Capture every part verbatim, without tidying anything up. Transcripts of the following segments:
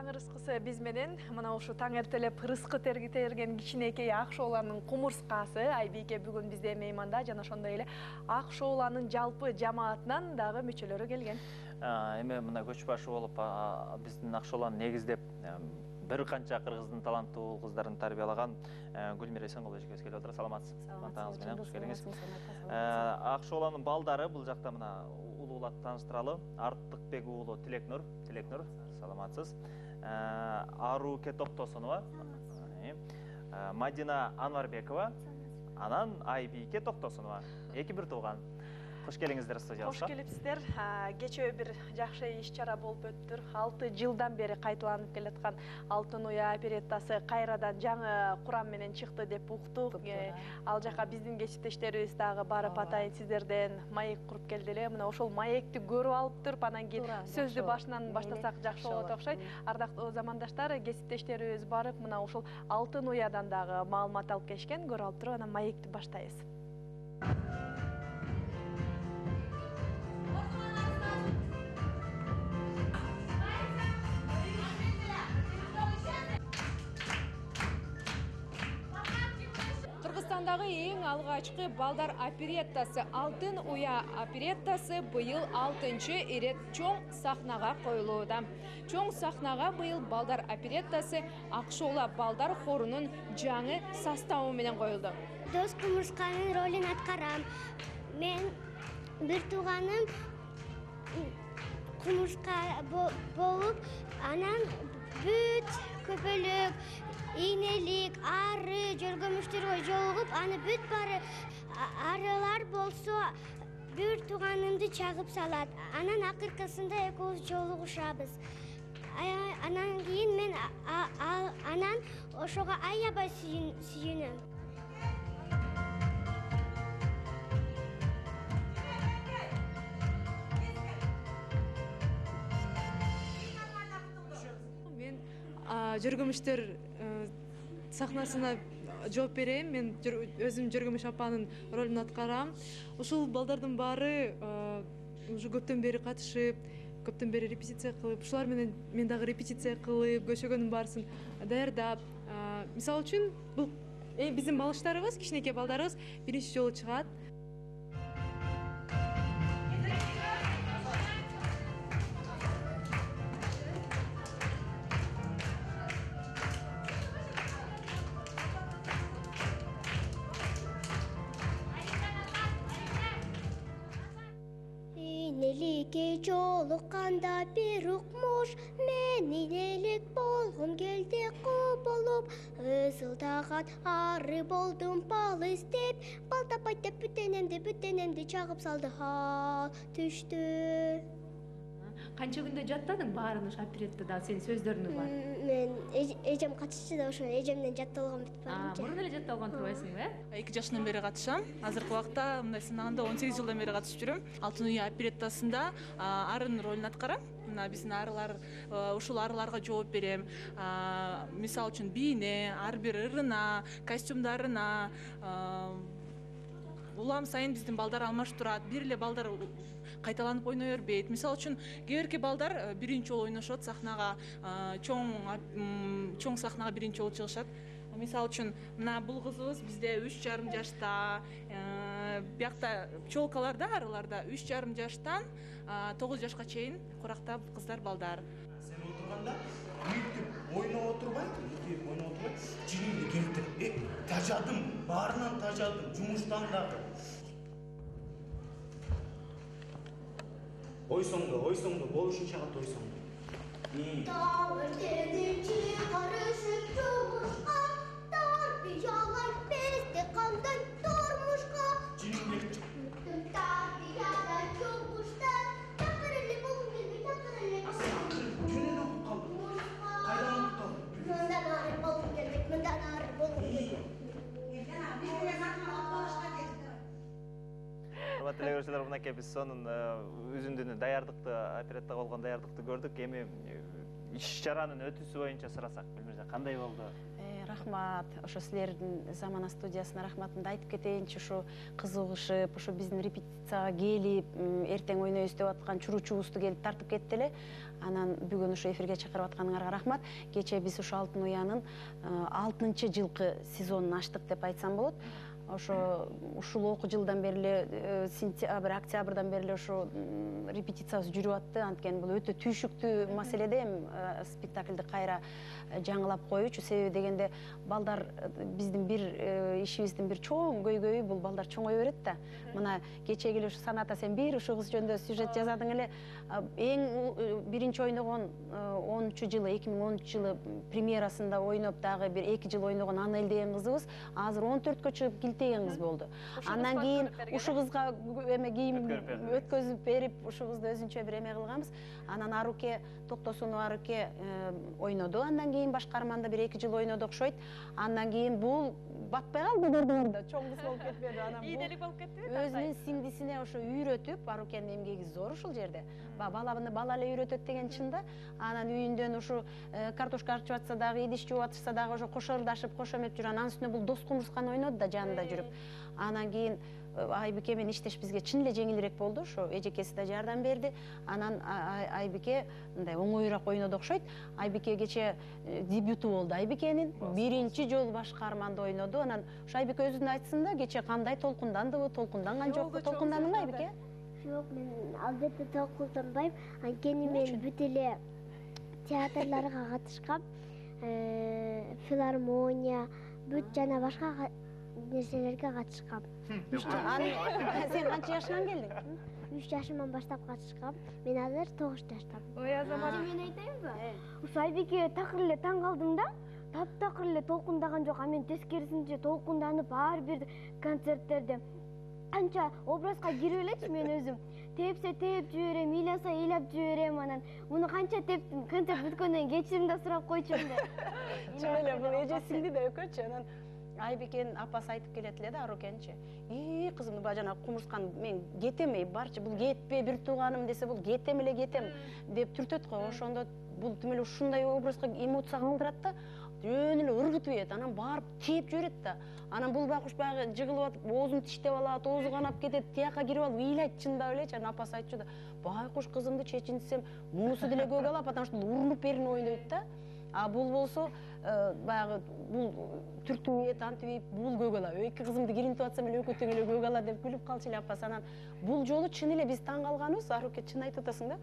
таң ырыскысы биз менен мына ушу таң эртелеп ырыскы тергитерген кичинекей ак шооланын кумурскасы Айбике бүгүн бизде мейманда жана ошондой эле ак шооланын жалпы жамаатынан дагы мүчөлөрү келген. Эми мына көч башы болуп биздин ак шооланы негиздеп бир канча кыргыздын таланттуу кыздарын тарбиялаган Гүлмира Эсенкулова эжекебиз келип отур. Саламатсыз. Таңыңыз менен кош келиңиз. Ак шооланын балдары бул жакта мына улуулап тааныштыралы. Артыкбек уулу Тилекнур, Тилекнур, саламатсыз. Аруке Токтосунова, Мадина Анварбекова, анан Айбике Токтосунова. Эки бир тууган. Кош келиңиздер студиябызга. Кош келипсиздер. Кечээ бир жакшы иш-чара болуп өттүр. алты жылдан бери кайталанып келаткан Алтын уя опереттасы кайрадан жаңы курам менен чыкты деп уктук. Ал жака биздин кесиптештерибиз дагы барып атайын сиздерден маек куруп келди эле. Мына ошол маекти көрүп алып туруп, анан кийин сөздү башынан баштасак жакшы болот окшойт. Ардактуу замандаштар, кесиптештерибиз барып, мына ошол Алтын уядан дагы маалымат алып келишкен. Көрүп алып туруп, анан маекти баштайбыз. Кыргызстандагы эң алгачкы балдар опереттасы Алтын уя опереттасы быйыл алтынчы ирет чоң сахнага коюлууда. Чоң сахнага быйыл балдар опереттасы Ак шоола балдар хорунун жаңы составы менен коюлду. Дос кумурсканын ролун аткарам. Мен бир тууганым кумурска болуп, анан бүт көпөлүк, ийнелик, ары жөргөмүштөргө жолугуп, аны бүт бары арылар болсо бир тууганымды чагып салат. Анан акыркысында экөөбүз жолугушабыз. Анан кийин мен анан ошого аябай сүйүнөм. Мен жөргөмүштөр сахнасына жооп берем. Мен өзүм Жөргөмүш апанын ролун аткарам. Ушул балдардын баары уже көптөн бери катышып, көптөн бери репетиция кылып, ушулар менен мен дагы репетиция кылып, көшөгөнүн баарысын даярдап. Мисалы үчүн, бул биздин балыштарыбыз, кичинекей балдарыбыз биринчи жолу чыгат. Ийнеликке жолукканда бир укмуш, мен ийнелик болгум келди кубулуп, ызылдаган ары болдум бал издеп, бал таппай деп бүтенемди бүтенемди чагып салды ха түштү. Канча күндө жаттадың баарын ушу опереттада, сенин сөздөрүңү бар? Мен эжем катышчу да, ошо эжемден жатталган бүт барынча. Мурун эле жатталган турбайсыңбы, э? эки жашынан бери катышам. Азыркы убакта мындай санаганда он сегиз жылдан бери катышып жүрөм. Алтын уя опереттасында арын ролун аткарам. Мына биздин арылар, ушул арыларга жооп берем. Мисалы үчүн бийне, ар бир ырына, костюмдарына, улам сайын биздин балдар алмашып турат. Бир эле балдар кайталанып ойной бербейт. Мисалы үчүн кээ бирки балдар биринчи жолу ойношот сахнага, чоң чоң сахнага биринчи жолу чыгышат. Мисалы үчүн мына бул кызыбыз бизде үч жарым жашта, биякта пчелкаларда, арыларда үч жарым жаштан тогуз жашка чейин курактап кыздар балдар. Сен отурганда бүйтүп ойноп отурбайт, эгер ойноп отурбайт, жинимди келтирип, тажадым, баарынан тажадым, жумуштан дагы. Ойсоңду, ойсоңду, болушунча кат ойсоңду. Таң эртеңинчи карышып жумушка, тарбиялар бизди кандай турмушка. Жинимди Тарбиядан жумуштан, такыр эле болгум келбей, такыр эле. жөнөдө окуп калдым. Кайдан окуп калдым? Мындан ары болгум келбейт, мындан ары болгум келбейт. Урматтуу телегөрүүчүлөр, мынакей биз сонун үзүндүнү даярдыкты, опереттага болгон даярдыкты көрдүк. Эми иш-чаранын өтүүсү боюнча сурасак, Гүлмира, кандай болду? рахмат. Ошо силердин Замана студиясына рахматымды айтып кетейинчи. Ушу кызыгышып, ушу биздин репетицияга келип, эртең ойнойбуз деп аткан чуручубузду келип тартып кетти эле. Анан бүгүн ушу эфирге чакырып атканыңарга рахмат. Кечээ биз ушу Алтын Уянын алтынчы жылкы сезонун ачтык деп айтсам болот. Ошо ушул окуу жылдан бери эле сентябрь, октябрдан бери эле ошо репетициябыз жүрүп атты. Анткени бул өтө түйшүктүү маселеде эми спектакльди кайра жаңылап коюучу. Себеби дегенде балдар биздин бир ишибиздин бир чоң көйгөйү бул балдар чоңое берет да. Мына кечеги эле ушу Саната сен бир ушул кыз жөнүндө сюжет жазадың эле. Эң биринчи ойногон онунчу жылы, эки миң онунчу жылы премьерасында ойноп дагы бир эки жыл ойногон Анель деген кызыбыз азыр он төрткө чыгып килтеген кыз болду. Андан кийин ушу кызга эме кийим өткөзүп берип, ушу кызды өзүнчө бир эме кылганбыз. Анан Аруке Токтосунова Аруке ойноду. Андан кийин башкарманда бир эки жыл ойноду окшойт. Андан кийин бул батпай калды көрдүңөрдө, чоң кыз болуп кетпеди. Анан ийделик болуп кетти. Өзүнүн сиңдисине ошо үйрөтүп, Арукенин эмгеги зор ушул жерде. Баланы бала эле үйрөтөт деген чында. Анан үйүндөн ушу картошка арчып атса дагы, идиш жууп атышса дагы ошо кошо ырдашып, кошо эмеп жүрөт. Анан үстүнө бул дос кумурсканы ойноду да жанында жүрүп. Анан кийин Айбике менен иштеш бизге чын эле жеңилирээк болду. Ошо эжекеси да жардам берди. Анан Айбике мындай оңоюраак ойноду окшойт. Айбике кечээ дебюту болду Айбикенин. Биринчи жолу башкарманда ойноду. Анан ошо Айбике өзүнүн айтсын да, кечээ кандай толкундандыбы, толкунданган жокпу? Толкундандыңбы Айбике? Жок, мен албетте толкунданбайм. Анткени мен бүт эле театрларга катышкам. Филармония, бүт жана башка нерселерге катышкам. Сен канча жашыңан келдиң? үч жашымдан баштап катышкам. Мен азыр тогуз жаштамын. Ой, Азамат, Мен айтайынбы? Ушу Айбике такыр эле таң калдым да. Таптакыр эле толкундаган жок. А мен тескерисинче толкунданып ар бир концерттерде канча образга кирип элечи мен өзүм. Тепсе теп жиберем, ыйласа ыйлап жиберем. Анан муну канча тептим, концерт бүткөндөн кечирим да сурап койчумун деп. Чын эле бул эжесиңди да өкөчү. Анан Айбикенин апасы айтып келет эле да Арукенчи. И кызым, баа жана кумурскан мен кетем, барчы бул кетпе, бир тууганым десе бул кетем эле кетем деп түртөт го. Ошондо бул тим эле ушундай образга эмоция калтырат да, жөн эле ыргытып ийет. Анан барып теп жиберет да. Анан бул байкуш баягы жыгылып атып, оозун тиштеп алат, оозу канап кетет, тияка кирип алып ыйлайт чындап элечи. Анан апасы айтчу да, байкуш кызымды чечинтсем, мунусу деле көк алат, потому что урунуп берине ойнойт да. А бул болсо баягы бул түртүп ийет, антип ийип, бул көк ала. Эки кызымды киринтип атсам эле экөөтөң эле көк ала деп күлүп калчу эле апасы. Анан бул жолу чын эле биз таң калганыбыз, Аруке чын айтып атасың да.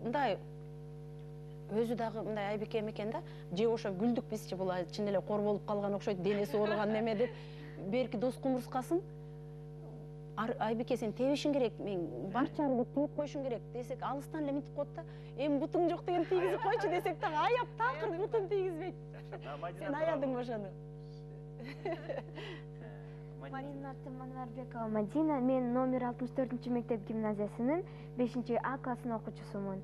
Мындай өзү дагы мындай Айбике экен да, же ошо күлдүк бизчи, бул чын эле кор болуп калган окшойт, денеси ооруган неме деп. Берки дос кумурскасын Айбике сен тебишиң керек, мен барчаны деп теп койушуң керек десек, алыстан эле мынтип коет да. Эми бутуң жок деген тийгизип койчу десек дагы аяп такыр бутун тийгизбейт. Сен аядың ошону. Менин атым Манарбекова Мадина. Мен номер алтымыш төртүнчү мектеп гимназиясынын бешинчи А классынын окуучусумун.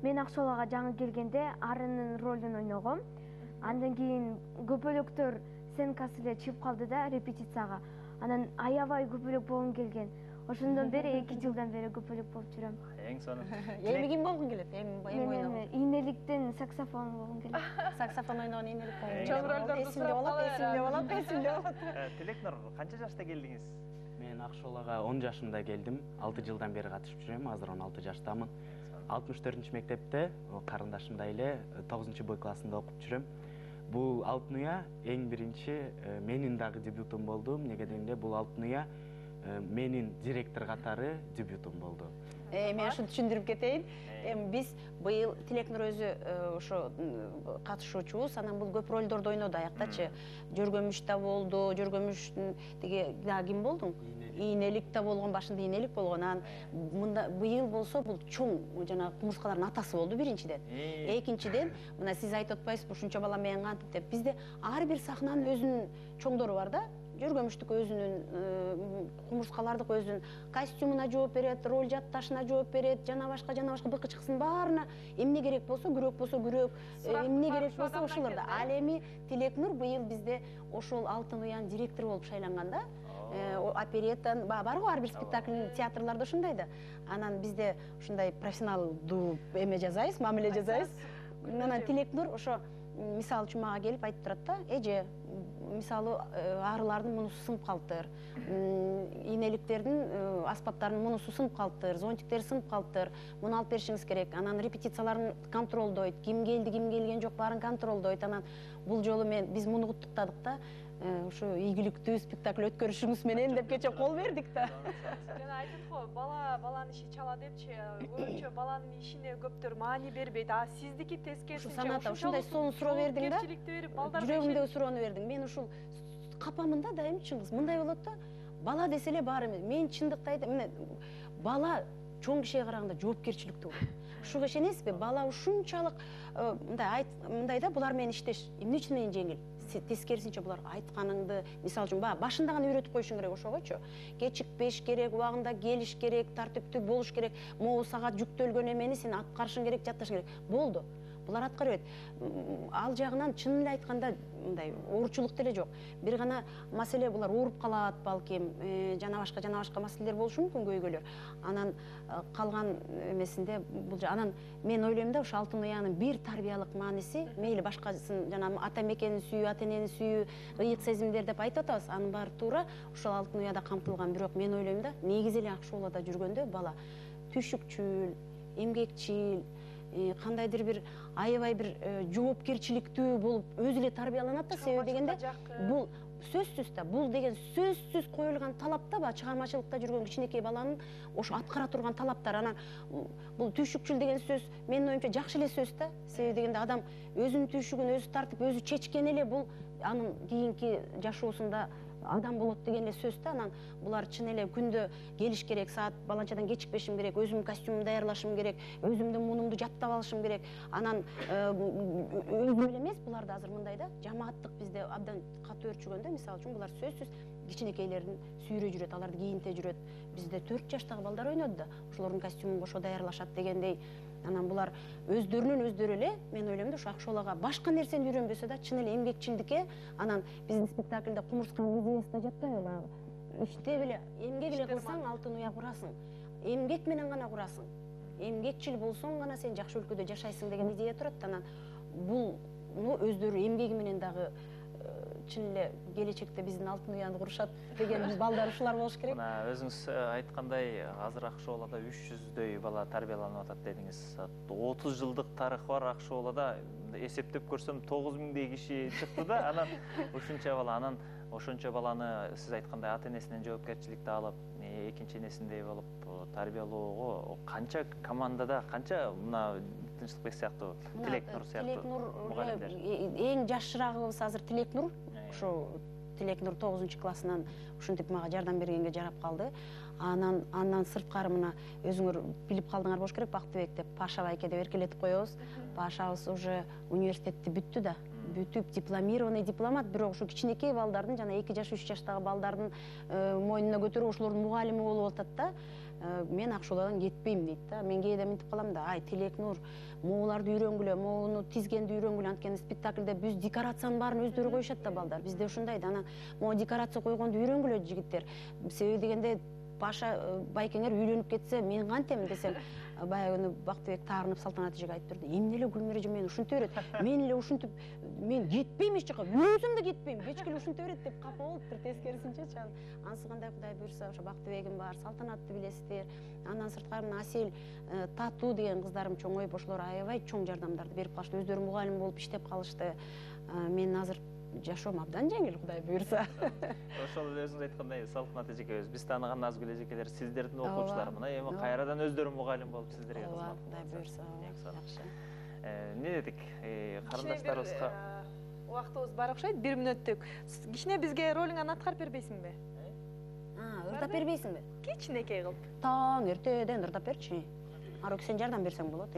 Мен Акшолага жаңы келгенде Арынын ролун ойногом. Андан кийин көпөлөктөр сценкасы эле чыгып калды да репетицияга. Анан аябай көпөлөк болгум келген. Ошондон бери эки жылдан бери көпөлөк болуп жүрөм. Эң сонун. Эми ким болгуң келет? Эми Менийнеликтен саксофон болгум келет. Саксофон ойногонийнелик болгуң Чоң ролдорду эсимде болот, эсимде болот, эсимде болот. Тилекнур, канча жашта келдиңиз? Мен Акшолага он жашымда келдим. алты жылдан бери катышып жүрөм. Азыр он алты жаштамын. алтымыш төртүнчү мектепте карындашымдай эле тогузунчу Б классында окуп жүрөм. Бул Алтын Уя эң биринчи менин дагы дебютум болду. Эмнеге дегенде бул Алтын Уя менин директор катары дебютум болду. Мен ушуну түшүндүрүп кетейин. Эми биз быйыл Тилекнур өзү ошо катышуучубуз, анан бул көп ролдорду ойноду аяктачы. Жөргөмүш да болду, Жөргөмүштүн тиги дагы ким болдуң?Ийнелик да болгон, башындаИйнелик болгон. Анан мында быйыл болсо бул чоң жана кумурскалардын атасы болду биринчиден. Экинчиден, мына сиз айтып атпайсызбы, ушунча бала менен кантип деп. Бизде ар бир сахнанын өзүнүн чоңдору бар да. Жөргөмүштүк өзүнүн, кумурскалардык өзүнүн костюмуна жооп берет, роль жатташына жооп берет, жана башка жана башка быкычкысынын баарына эмне керек болсо, күрөк болсо күрөк, эмне керек болсо ошолордо. Ал эми Тилекнур быйыл бизде ошол Алтын Уянын директору болуп шайланган да. Опереттан бар го ар бир спектакль, театрларда ушундай да. Анан бизде ушундай профессионалдуу эме жасайбыз, мамиле жасайбыз. Анан Тилекнур ошо мисалы үчүн мага келип айтып турат да, эже мисалы арылардын мунусу сынып калыптыр, ийнеликтердин аспаптарынын мунусу сынып калыптыр, зонтиктери сынып калыптыр, муну алып беришиңиз керек. Анан репетицияларын контролдойт, ким келди, ким келген жок баарын контролдойт. Анан бул жолу мен биз муну куттуктадык да, ушу ийгиликтүү спектакль өткөрүшүңүз менен деп кече кол бердик да. Жана айтат го, бала баланын иши чала депчи, көбүнчө баланын ишине көптөр маани бербейт. А сиздики тескерисинче саната ушундай сонун суроо бердиң да. Жүрөгүмдөгү суроону бердиң. Мен ушул капамын да дайым чыңгыз. Мындай болот да, бала десе эле баары мен чындыкты айтам. Мына бала чоң кишиге караганда жоопкерчиликтүү болот. Ушуга ишенесизби? Бала ушунчалык мындай мындай да, булар менен иштеш эмне үчүн менен жеңил? Тескерисинче булар айтканыңды, мисалы үчүн баягы башында гана үйрөтүп коюшуң керек ошогочу. Кечикпеш керек, убагында келиш керек, тартиптүү болуш керек. Могу сага жүктөлгөн эмени сен аткарышың керек, жатташың керек. Болду. Булар аткара берет. Ал жагынан чын эле айтканда мындай оорчулук деле жок. Бир гана маселе булар ооруп калат балким, жана башка жана башка маселелер болушу мүмкүн көйгөйлөр. Анан калган эмесинде бул анан мен ойлойм да, ушу алтын уянын бир тарбиялык мааниси, мейли башкасын жана ата мекенин сүйүү, ата энени сүйүү, ыйык сезимдер деп айтып атабыз, анын баары туура ушул алтын уяда камтылган. Бирок мен ойлойм да, негизи эле ак шоулада жүргөндө бала түшүкчүл, эмгекчил, кандайдыр бир аябай бир жоопкерчиликтүү болуп өзү эле тарбияланат да. Себеби дегенде бул сөзсүз да, бул деген сөзсүз коюлган талап да, баягы чыгармачылыкта жүргөн кичинекей баланын ошо аткара турган талаптар. Анан бул түшүкчүл деген сөз менин оюмча жакшы эле сөз да. Себеби дегенде адам өзүнүн түшүгүн өзү тартып, өзү чечкен эле бул анын кийинки жашоосунда адам болот деген эле сөз да. Анан булар чын эле күндө келиш керек, саат баланчадан кечикпешим керек, өзүмдүн костюмумду даярлашым керек, өзүмдүн мунумду жаттап алышым керек. Анан өзүм эле эмес, булар да азыр мындай да, жамааттык бизде абдан катуу өрчүгөндө, мисалы үчүн булар сөзсүз кичинекейлердин сүйрө жүрөт, аларды кийинте жүрөт. Бизде төрт жаштагы балдар ойноду да, ошолордун костюмун кошо даярлашат дегендей. Анан булар өздөрүнөн өздөрү эле, мен ойлойм да, ушу ак шоулага башка нерсени үйрөнбөсө да, чын эле эмгекчилдикке, анан биздин спектакльде кумурсканын идеясы да жатпайбы? Иштеп эле, эмгек эле кылсаң алтын уя курасың. Эмгек менен гана курасың. Эмгекчил болсоң гана сен жакшы өлкөдө жашайсың деген идея турат. Анан бул өздөрү эмгеги менен дагы чын эле келечекте биздин алтын уяны курушат деген балдар ушулар болуш керек. Мына өзүңүз айткандай, азыр ак шоулада үч жүздөй бала тарбияланып атат дедиңиз. отуз жылдык тарыхы бар ак шоулада эсептеп көрсөм тогуз миңдей киши чыкты да. Анан ушунча бала, анан ошончо баланы сиз айткандай ата энесинен жоопкерчиликти алып, экинчи энесиндей болуп тарбиялоого канча командада, канча мына Тынчтыкбек сыяктуу, Тилекнур сыяктуу мугалимдер? Эң жашырагыбыз азыр Тилекнур. Ушу Тилекнур тогузунчу классынан ушинтип мага жардам бергенге жарап калды. Анан андан сырткары мына өзүңөр билип калдыңар болуш керек, Бактыбек деп Паша байке деп эркелетип коебуз. Пашабыз уже университетти бүттү да. Бүтүп дипломированный дипломат, бирок ушу кичинекей балдардын жана эки жаш үч жаштагы балдардын мойнуна көтөрүп ошолордун мугалими болуп атат да. Мен ак шоуладан кетпейм дейт да. Мен кээде мынтип калам да, ай Тилекнур, могуларды үйрөнгүлө, могуну тизгенди үйрөнгүлө, анткени спектакльде биз декорациянын баарын өздөрү коюшат да балдар. Бизде ушундай да. Анан могу декорация койгонду үйрөнгүлө жигиттер. Себеби дегенде Паша байкеңер үйлөнүп кетсе мен кантем десем, баягы Бактыбек таарынып Салтанат эжеге айтып турду. Эмне эле Гүлмира эже мени ушинте берет. Мен эле ушинтип мен кетпейм эч жака, өзүм да кетпейм. Кечке эле ушинте берет деп капа болуптур, тескерисинчечи. Анысы кандай Кудай буйрса, ошо Бактыбегим бар, Салтанатты билесиздер. Андан сырткары мына Асель, Татуу деген кыздарым чоң ойуп, ошолор аябай чоң жардамдарды берип калышты. Өздөрү мугалим болуп иштеп калышты. Мен азыр жашоом абдан жеңил, Кудай буйрса. Ошол эле өзүңүз айткандай, Салтанат эжекебиз, биз тааныган Назгүл эжекелер, сиздердин окуучулар мына эми кайрадан өздөрү мугалим болуп сиздерге кызмат. Кудай буйрса, жакшы. Эмне дедик? Карындаштарыбызга убактыбыз бар окшойт, бир мүнөттүк. Кичине бизге ролуңан аткарып бербейсиңби? А, ырдап бербейсиңби? Кичинекей кылып. Таң эртеден ырдап берчи. Арук сен жардам берсең болот.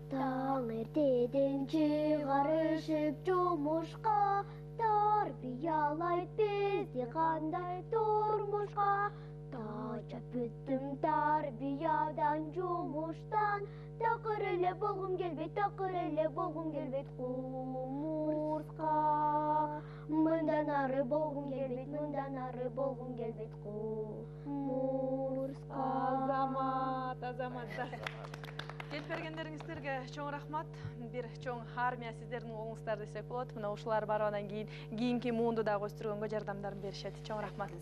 Таң эртеден чыгарышып жумушка, тарбиялайт бизди кандай турмушка. Тачап бүттүм тарбиядан жумуштан, такыр эле болгум келбейт, такыр эле болгум келбейт кумурска. Мындан ары болгум келбейт, мындан ары болгум келбейт кумурска. Азамат, Азамат. келип бергендериңиздерге чоң рахмат. Бир чоң армия сиздердин колуңуздар десек болот. Мына ушулар баргандан кийин кийинки муунду дагы өстүргөнгө жардамдарын беришет. Чоң рахмат.